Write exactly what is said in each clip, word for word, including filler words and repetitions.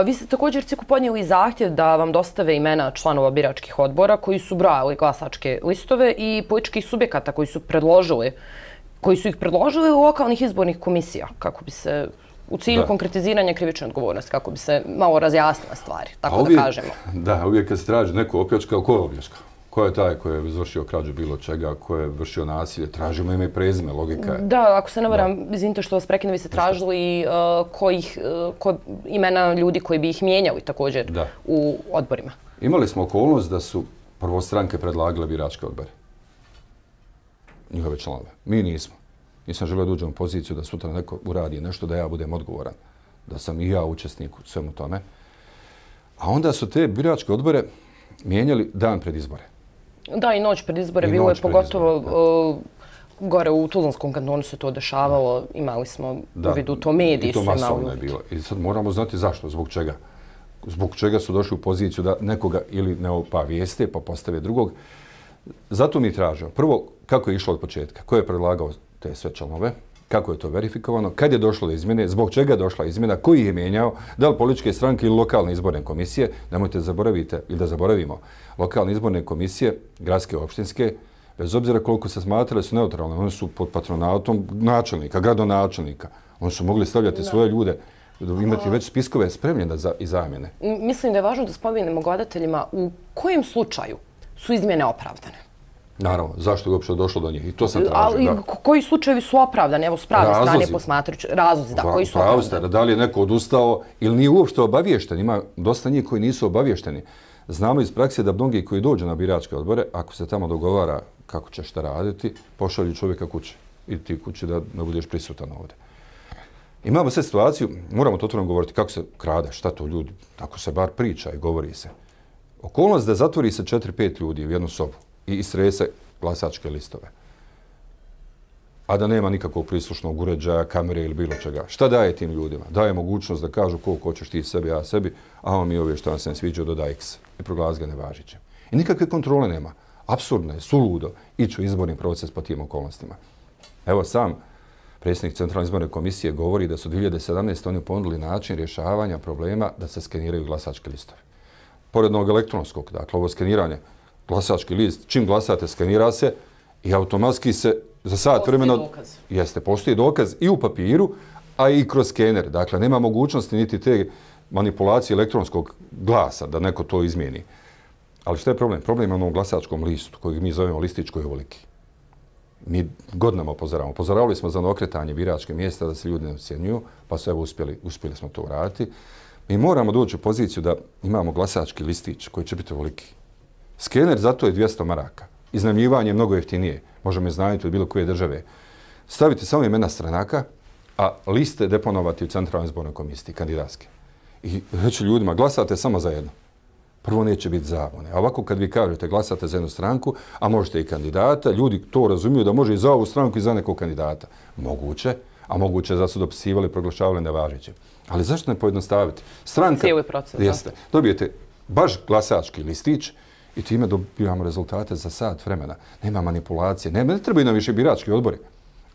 Vi ste također ciku podnijeli zahtjev da vam dostave imena članova biračkih odbora koji su brojali glasačke listove i političkih subjekata koji su predložili, koji su ih predložili u lokalnih izbornih komisija, kako bi se u cilju konkretiziranja krivične odgovornosti, kako bi se malo razjasnila stvari, tako da kažemo. Da, uvijek kad se traži neko opljačkao, ko je opljačkao? Ko je taj koji je izvršio krađu bilo čega, ko je vršio nasilje? Tražimo ime i prezime, logika je. Da, ako se ne varam, izvinite što vas prekinem, vi ste tražili imena ljudi koji bi ih mijenjali također u odborima. Imali smo okolnost da su prvo stranke predlagale biračke odbore. Njihove članove. Mi nismo. Nisam želio da uđem u poziciju da sutra neko uradi nešto da ja budem odgovoran. Da sam i ja učesnik u svemu tome. A onda su te biračke odbore mijenjali dan pred izbore. Da, i noć pred izbore. Bilo je pogotovo gore u Tuzlanskom kantonu se to dešavalo. Imali smo u vidu to, mediji su imali. I to masovno je bilo. I sad moramo znati zašto, zbog čega. Zbog čega su došli u poziciju da nekoga ili ne opavijeste pa postave drugog. Zato mi tražimo. Prvo, kako je išlo od početka? Ko je predlagao te sve članove? Kako je to verifikovano? Kad je došlo do izmjene? Zbog čega je došla izmjena? Koji je mijenjao? Da li političke stranke ili lokalne izborne komisije? Nemojte zaboravite ili da zaboravimo. Lokalne izborne komisije, gradske, opštinske, bez obzira koliko se smatrale su neutralne, one su pod patronatom načelnika, gradonačelnika. Oni su mogli stavljati svoje ljude, imati već spiskove spremljene i zamjene. Mislim da je važno da spomenemo gledateljima u kojem slučaju su izmjene opravdane. Naravno, zašto je uopšte došlo do njih? I to sam tražio. Ali koji slučajevi su opravdani? Evo, s prave strane posmatrajući. Razlozi, da, koji su opravdani? Da li je neko odustao ili nije uopšte obaviješten? Ima dosta njih koji nisu obavješteni. Znamo iz prakse da mnogi koji dođu na biračke odbore, ako se tamo dogovara kako će šta raditi, pošalju čovjeka kuće. I ti kući da ne budeš prisutan ovdje. Imamo sve situaciju, moramo to otvoreno govoriti kako se krade, šta to ljudi, ako se bar priča i govori se. Okolnost da zatvori se četiri pet ljudi u jednu sobu i istrese glasačke listove. A da nema nikakvog prislušnog uređaja, kamere ili bilo čega. Šta daje tim ljudima? Daje mogućnost da kažu koliko hoćeš ti sebi, ja sebi, a on mi ove što vam se ne sviđao dodaj X i proglasi ga nevažećim. I nikakve kontrole nema. Apsurdno je, suludo ići u izborni proces po tim okolnostima. Evo sam predsjednik Centralne izborne komisije govori da su dvije hiljade sedamnaeste. oni ponudili način rješavanja problema da se skeniraju glasački listovi. Pored onog elektronskog, dakle ovo skeniranje, glasački list, čim glasate, skenira se i automatski se za sat vremena... Postoji dokaz. Jeste, postoji dokaz i u papiru, a i kroz skener. Dakle, nema mogućnosti niti te manipulacije elektronskog glasa da neko to izmijeni. Ali što je problem? Problem je onom glasačkom listu, kojeg mi zovemo listić koji je ovoliki. Mi godinama upozoravamo. Upozoravali smo za okretanje biračke mjesta da se ljudi ne ocjenjuju, pa su evo uspjeli, uspjeli smo to uraditi. Mi moramo doći u poziciju da imamo glasački listić koji će biti ovoliki. Skener zato je dvjesto maraka. Iznajmljivanje je mnogo jeftinije. Možemo iznajmiti od bilo koje države. Staviti samo imena stranaka, a liste deponovati u Centralnoj izbornoj komisiji, kandidatske. I reći ljudima, glasate samo za jedno. Prvo neće biti zabune. A ovako kad vi kažete glasate za jednu stranku, a možete i kandidata, ljudi to razumiju da može i za ovu stranku i za nekog kandidata. Moguće, a moguće da su dopisivali i proglašavali nevažećim. Ali zašto ne pojednostaviti? Stranka... Cijeli proces. Jeste. Dobijete baš glasački listić i time dobijamo rezultate za sat vremena. Nema manipulacije. Ne, ne trebaju nam više birački odbori.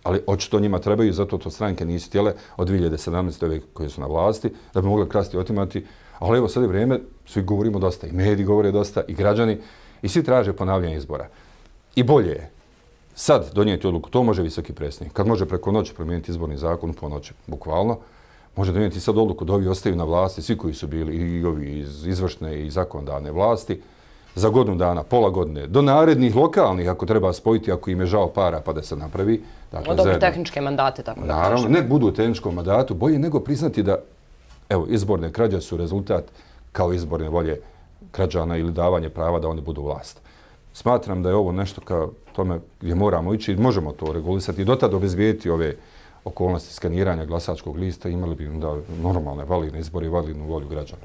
Ali očito njima trebaju, zato to stranke nisu htjele od dvije hiljade sedamnaeste. ove koje su na vlasti, da bi mogli krasti i otimati. Ali evo sad je vrijeme, svi govorimo dosta, i mediji govore dosta, i građani, i svi traže ponavljanje izbora. I bolje je sad donijeti odluku, to može visoki predsjednik. Kad može preko noći promijeniti izborni zakon, po noći, bukvalno, može donijeti sad odluku da ovi ostaju na vlasti, svi koji su bili, i ovi iz izvršne i zakonodavne vlasti, za godinu dana, pola godine, do narednih lokalnih, ako treba spojiti, ako im je žao para, pa da se napravi. Dakle, dobro, tehničke mandate, tako da kažem. Naravno, ne budu u tehničkom mandatu, bolje nego priznati da, evo, izborne krađe su rezultat kao izborne volje građana ili davanje prava da oni budu vlast. Smatram da je ovo nešto kao tome gdje moramo ići i možemo to regulisati i dotad obezbijediti ove okolnosti skaniranja glasačkog lista, imali bi da normalne, validne izbore i validnu volju građana.